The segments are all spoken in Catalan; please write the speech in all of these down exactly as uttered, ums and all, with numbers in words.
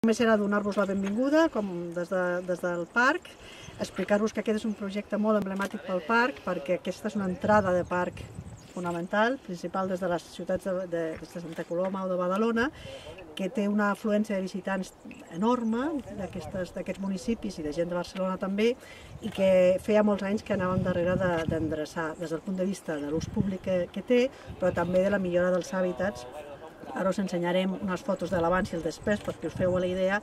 Només era donar-vos la benvinguda com des, de, des del parc, explicar-vos que aquest és un projecte molt emblemàtic pel parc, perquè aquesta és una entrada de parc fonamental, principal des de les ciutats de, de, de Santa Coloma o de Badalona, que té una afluència de visitants enorme d'aquests municipis i de gent de Barcelona també, i que feia molts anys que anàvem darrere d'endreçar des del punt de vista de l'ús públic que, que té, però també de la millora dels hàbitats. Ara us ensenyarem unes fotos de l'abans i el després perquè us feu la idea,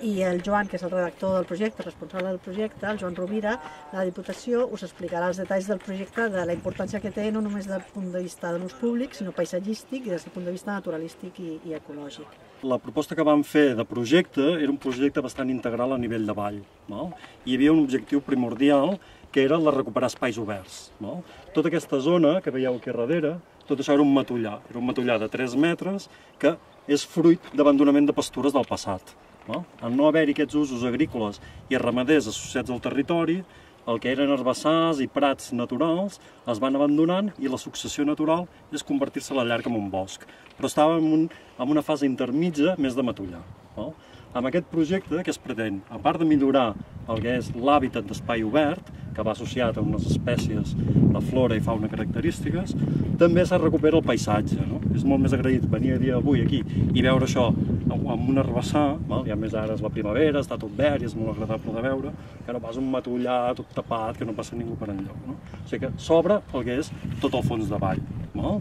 i el Joan, que és el redactor del projecte, responsable del projecte, el Joan Rovira, de la Diputació, us explicarà els detalls del projecte, de la importància que té no només des del punt de vista de l'ús públic, sinó paisatgístic i des del punt de vista naturalístic i, i ecològic. La proposta que vam fer de projecte era un projecte bastant integral a nivell de vall. No? Hi havia un objectiu primordial, que era el de recuperar espais oberts. No? Tota aquesta zona que veieu aquí darrere, tot això era un matollar. Era un matollar de tres metres que és fruit d'abandonament de pastures del passat. No? Al no haver-hi aquests usos agrícoles i ramaders associats al territori, el que eren herbassars i prats naturals es van abandonant i la successió natural és convertir-se a la llarga en un bosc. Però estava en, un, en una fase intermitja més de matollar. No? Amb aquest projecte, que es pretén, a part de millorar el que és l'hàbitat d'espai obert, que va associat a unes espècies de flora i fauna característiques, també se recupera el paisatge. No? És molt més agraït venir a dia d'avui aquí i veure això amb un herbassar, i a més ara és la primavera, està tot verd i és molt agradable de veure, que no pas un matollar tot tapat, que no passa ningú per enlloc. No? O sigui que s'obre el que és tot el fons de vall. No?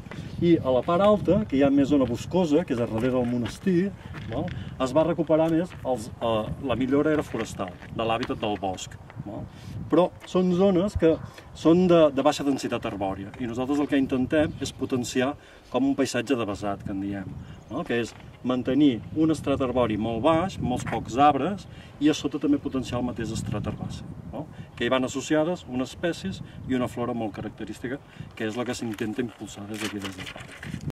I a la part alta, que hi ha més zona boscosa, que és a darrere del monestir, no? Es va recuperar més els, eh, la millora era forestal, de l'hàbitat del bosc. No? Però són zones que són de, de baixa densitat arbòria i nosaltres el que intentem és potenciar com un paisatge de vessat, que en diem, no? Que és mantenir un estrat arbori molt baix, molts pocs arbres, i a sota també potenciar el mateix estrat herbàcer, no? Que hi van associades unes espècies i una flora molt característica, que és la que s'intenta impulsar des d'aquí des del parc.